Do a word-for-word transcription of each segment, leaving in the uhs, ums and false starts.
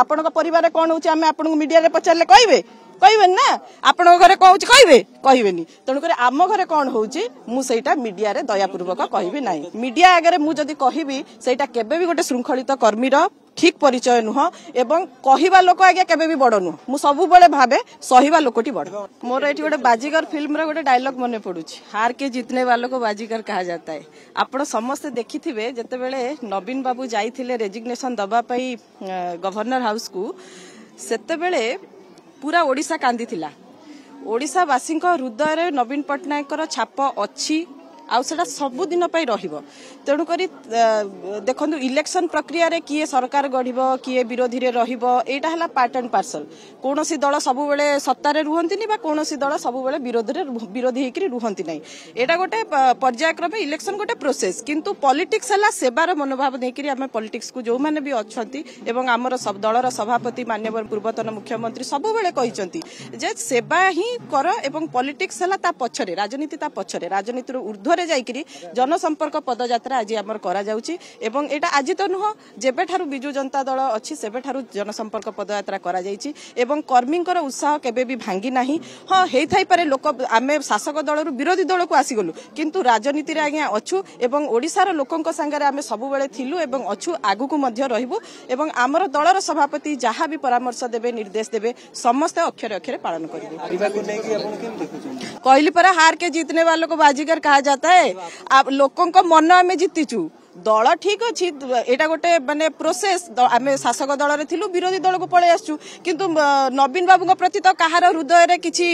ଆପଣଙ୍କ ପରିବାରରେ କଣ ହଉଛି ଆମେ ଆପଣଙ୍କୁ ମିଡିଆରେ ପଚାରିଲେ କହିବେ କହିବେନି ନା ଆପଣଙ୍କ ଘରେ କଣ ହଉଛି କହିବେ କହିବେନି ତେଣୁକରି ଆମ ଘରେ କଣ ହଉଛି ମୁଁ ସେଇଟା ମିଡିଆରେ ଦୟାପୂର୍ବକ କହିବି ନାହିଁ ମିଡିଆ ଆଗରେ ମୁଁ ଯଦି କହିବି ସେଇଟା କେବେ ବି ଗୋଟେ ଶୃଙ୍ଖଳିତ କର୍ମୀର ଠିକ ପରିଚୟ ନୁହଁ ଏବଂ କହିବା ଲୋକ ଆଜ୍ଞା କେବେ ବି ବଡ ନୁହଁ ମୁଁ ସବୁବେଳେ ଭାବେ ସହିବା ଲୋକଟି ବଡ ମୋର ଏଠି ଗୋଟେ ବାଜିଗର ଫିଲ୍ମର ଗୋଟେ ଡାଇଲଗ ମନେ ପଡୁଛି हार के जीतने वालों को बाजीगर कहा जाता है ଆପଣ ସମସ୍ତେ ଦେଖିଥିବେ ଯେତେବେଳେ ନବୀନ ବାବୁ ଯାଇଥିଲେ ରେଜିଗ୍ନେସନ ଦବା ପାଇଁ ଗଭର୍ଣ୍ଣର ହାଉସକୁ ସେତେବେଳେ ପୁରା ଓଡ଼ିଶା କାନ୍ଦିଥିଲା ଓଡ଼ିଶାବାସୀଙ୍କ ହୃଦୟରେ ନବୀନ ପଟ୍ଟନାୟକଙ୍କର ଛାପ ଅଛି ଆଉ ସେଟା ସବୁଦିନ ପାଇଁ ରହିବ ତେଣୁକରି ଦେଖନ୍ତୁ ଇଲେକ୍ସନ ପ୍ରକ୍ରିୟାରେ କିଏ ସରକାର ଗଢ଼ିବ କିଏ ବିରୋଧୀରେ ରହିବ ଏଇଟା ହେଲା ପାର୍ଟ ଆଣ୍ଡ ପାର୍ସଲ କୌଣସି ଦଳ ସବୁବେଳେ ସତ୍ତାରେ ରୁହନ୍ତିନି ବା କୌଣସି ଦଳ ସବୁବେଳେ ବିରୋଧରେ ବିରୋଧୀ ହେଇକରି ରୁହନ୍ତି ନାହିଁ ଏଇଟା ଗୋଟେ ପର୍ଯ୍ୟାୟକ୍ରମେ ଇଲେକ୍ସନ ଗୋଟେ ପ୍ରୋସେସ କିନ୍ତୁ ପଲିଟିକ୍ସ ହେଲା ସେବାର ମନୋଭାବ ନେଇକରି ଆମେ ପଲିଟିକ୍ସକୁ ଯୋଉମାନେ ବି ଅଛନ୍ତି ଏବଂ ଆମର ଦଳର ସଭାପତି ମାନ୍ୟବର ପୂର୍ବତନ ମୁଖ୍ୟମନ୍ତ୍ରୀ ସବୁବେଳେ କହିଛନ୍ତି ଯେ ସେବା ହିଁ କର ଏବଂ ପଲିଟିକ୍ସ ହେଲା ତା ପଛରେ ରାଜନୀତି ତା ପଛରେ ରାଜନୀତିରୁ ଊର୍ଦ୍ଧ୍ୱରେ ଯାଇକରି ଜନସମ୍ପର୍କ ପଦଯାତ୍ରା ଆଜି ଆମର କରାଯାଉଛି ଏବଂ ଏଇଟା ଆଜି ତ ନୁହଁ ଯେବେଠାରୁ ବିଜୁ ଜନତା ଦଳ ଅଛି ସେବେଠାରୁ ଜନସମ୍ପର୍କ ପଦଯାତ୍ରା କରାଯାଇଛି ଏବଂ କର୍ମୀଙ୍କର ଉତ୍ସାହ କେବେ ବି ଭାଙ୍ଗି ନାହିଁ ହଁ ହେଇଥାଇପାରେ ଲୋକ ଆମେ ଶାସକ ଦଳରୁ ବିରୋଧୀ ଦଳକୁ ଆସିଗଲୁ କିନ୍ତୁ ରାଜନୀତିରେ ଆଜ୍ଞା ଅଛୁ ଏବଂ ଓଡ଼ିଶାର ଲୋକଙ୍କ ସାଙ୍ଗରେ ଆମେ ସବୁବେଳେ ଥିଲୁ ଏବଂ ଅଛୁ ଆଗକୁ ମଧ୍ୟ ରହିବୁ ଏବଂ ଆମର ଦଳର ସଭାପତି ଯାହା ବି ପରାମର୍ଶ ଦେବେ ନିର୍ଦ୍ଦେଶ ଦେବେ ସମସ୍ତେ ଅକ୍ଷରେ ଅକ୍ଷରେ ପାଳନ କରିବୁ କହିଲି ପରା हार के जीतने वालों को बाजीगर कहा जाता है ଲୋକଙ୍କ ମନ ଆମେ ଜିତିଛୁ ଦଳ ଠିକ ଅଛି ଏଇଟା ଗୋଟେ ମାନେ ପ୍ରୋସେସ ଆମେ ଶାସକ ଦଳରେ ଥିଲୁ ବିରୋଧୀ ଦଳକୁ ପଳେଇ ଆସିଛୁ କିନ୍ତୁ ନବୀନ ବାବୁଙ୍କ ପ୍ରତି ତ କାହାର ହୃଦୟରେ କିଛି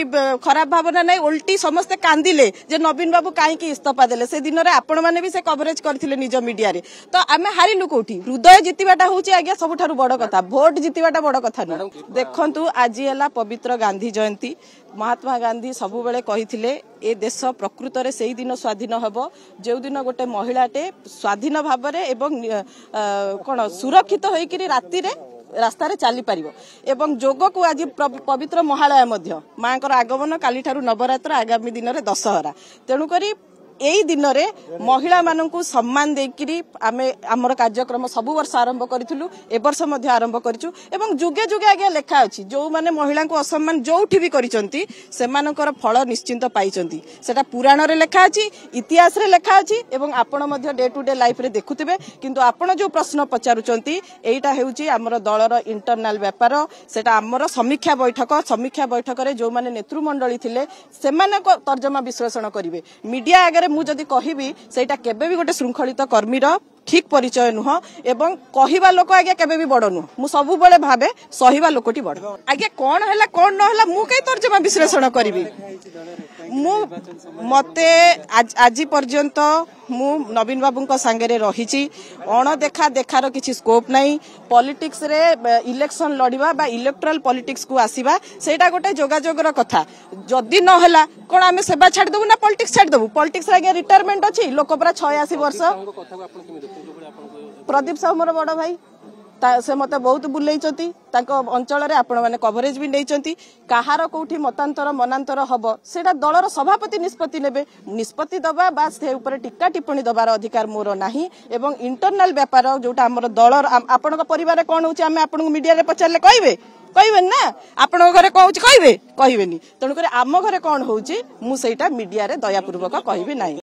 ଖରାପ ଭାବନା ନାହିଁ ଓଲଟି ସମସ୍ତେ କାନ୍ଦିଲେ ଯେ ନବୀନ ବାବୁ କାହିଁକି ଇସ୍ତଫା ଦେଲେ ସେ ଦିନରେ ଆପଣମାନେ ବି ସେ କଭରେଜ କରିଥିଲେ ନିଜ ମିଡିଆରେ ତ ଆମେ ହାରିଲୁ କୋଉଠି ହୃଦୟ ଜିତିବାଟା ହଉଛି ଆଜ୍ଞା ସବୁଠାରୁ ବଡ କଥା ଭୋଟ ଜିତିବାଟା ବଡ କଥା ନୁହଁ ଦେଖନ୍ତୁ ଆଜି ହେଲା ପବିତ୍ର ଗାନ୍ଧୀ ଜୟନ୍ତୀ ମହାତ୍ମା ଗାନ୍ଧୀ ସବୁବେଳେ କହିଥିଲେ ଏ ଦେଶ ପ୍ରକୃତରେ ସେଇ ଦିନ ସ୍ୱାଧୀନ ହେବ ଯେଉଁଦିନ ଗୋଟେ ମହିଳାଟେ ସ୍ୱାଧୀନ ଭାବରେ ଏବଂ କଣ ସୁରକ୍ଷିତ ହୋଇକରି ରାତିରେ ରାସ୍ତାରେ ଚାଲିପାରିବ ଏବଂ ଯୋଗକୁ ଆଜି ପବିତ୍ର ମହାଳୟା ମଧ୍ୟ ମାଙ୍କର ଆଗମନ କାଲିଠାରୁ ନବରାତ୍ର ଆଗାମୀ ଦିନରେ ଦଶହରା ତେଣୁକରି ଏଇ ଦିନରେ ମହିଳାମାନଙ୍କୁ ସମ୍ମାନ ଦେଇକିରି ଆମେ ଆମର କାର୍ଯ୍ୟକ୍ରମ ସବୁ ବର୍ଷ ଆରମ୍ଭ କରିଥିଲୁ ଏ ବର୍ଷ ମଧ୍ୟ ଆରମ୍ଭ କରିଛୁ ଏବଂ ଯୁଗେ ଯୁଗେ ଆଜ୍ଞା ଲେଖା ଅଛି ଯୋଉମାନେ ମହିଳାଙ୍କୁ ଅସମ୍ମାନ ଯୋଉଠି ବି କରିଛନ୍ତି ସେମାନଙ୍କର ଫଳ ନିଶ୍ଚିନ୍ତ ପାଇଛନ୍ତି ସେଟା ପୁରାଣରେ ଲେଖା ଅଛି ଇତିହାସରେ ଲେଖା ଅଛି ଏବଂ ଆପଣ ମଧ୍ୟ ଡେ ଟୁ ଡେ ଲାଇଫରେ ଦେଖୁଥିବେ କିନ୍ତୁ ଆପଣ ଯୋଉ ପ୍ରଶ୍ନ ପଚାରୁଛନ୍ତି ଏଇଟା ହେଉଛି ଆମର ଦଳର ଇଣ୍ଟରନାଲ ବ୍ୟାପାର ସେଟା ଆମର ସମୀକ୍ଷା ବୈଠକ ସମୀକ୍ଷା ବୈଠକରେ ଯୋଉମାନେ ନେତୃମଣ୍ଡଳୀ ଥିଲେ ସେମାନଙ୍କ ତର୍ଜମା ବିଶ୍ଳେଷଣ କରିବେ ମିଡିଆ ଆଗରେ ମୁଁ ଯଦି କହିବି ସେଇଟା କେବେ ବି ଗୋଟେ ଶୃଙ୍ଖଳିତ କର୍ମୀର ଠିକ ପରିଚୟ ନୁହଁ ଏବଂ କହିବା ଲୋକ ଆଜ୍ଞା କେବେ ବି ବଡ ନୁହଁ ମୁଁ ସବୁବେଳେ ଭାବେ ସହିବା ଲୋକଟି ବଡ ଆଜ୍ଞା କଣ ହେଲା କଣ ନହେଲା ମୁଁ କାହିଁ ତର୍ଜମା ବିଶ୍ଳେଷଣ କରିବି ମୁଁ ମତେ ଆଜି ପର୍ଯ୍ୟନ୍ତ ମୁଁ ନବୀନ ବାବୁଙ୍କ ସାଙ୍ଗରେ ରହିଛି ଅଣଦେଖା ଦେଖାର କିଛି ସ୍କୋପ ନାହିଁ ପଲିଟିକ୍ସରେ ଇଲେକ୍ସନ ଲଢିବା ବା ଇଲେକ୍ଟ୍ରାଲ ପଲିଟିକ୍ସକୁ ଆସିବା ସେଇଟା ଗୋଟେ ଯୋଗାଯୋଗର କଥା ଯଦି ନହେଲା କଣ ଆମେ ସେବା ଛାଡ଼ିଦେବୁ ନା ପଲିଟିକ୍ସ ଛାଡ଼ିଦେବୁ ପଲିଟିକ୍ସରେ ଆଜ୍ଞା ରିଟାୟାରମେଣ୍ଟ ଅଛି ଲୋକ ପୁରା ଛୟାଅଶୀ ବର୍ଷ ପ୍ରଦୀପ ସାହୁ ମୋର ବଡ ଭାଇ ସେ ମତେ ବହୁତ ବୁଲେଇଛନ୍ତି ତାଙ୍କ ଅଞ୍ଚଳରେ ଆପଣମାନେ କଭରେଜ ବି ନେଇଛନ୍ତି କାହାର କୋଉଠି ମତାନ୍ତର ମନାନ୍ତର ହବ ସେଇଟା ଦଳର ସଭାପତି ନିଷ୍ପତ୍ତି ନେବେ ନିଷ୍ପତ୍ତି ଦବା ବା ସେ ଉପରେ ଟୀକା ଟିପ୍ପଣୀ ଦବାର ଅଧିକାର ମୋର ନାହିଁ ଏବଂ ଇଣ୍ଟରନାଲ ବ୍ୟାପାର ଯୋଉଟା ଆମର ଦଳର ଆପଣଙ୍କ ପରିବାରରେ କଣ ହଉଛି ଆମେ ଆପଣଙ୍କୁ ମିଡିଆରେ ପଚାରିଲେ କହିବେ କହିବେନି ନା ଆପଣଙ୍କ ଘରେ କଣ ହଉଛି କହିବେ କହିବେନି ତେଣୁକରି ଆମ ଘରେ କଣ ହଉଛି ମୁଁ ସେଇଟା ମିଡିଆରେ ଦୟାପୂର୍ବକ କହିବି ନାହିଁ।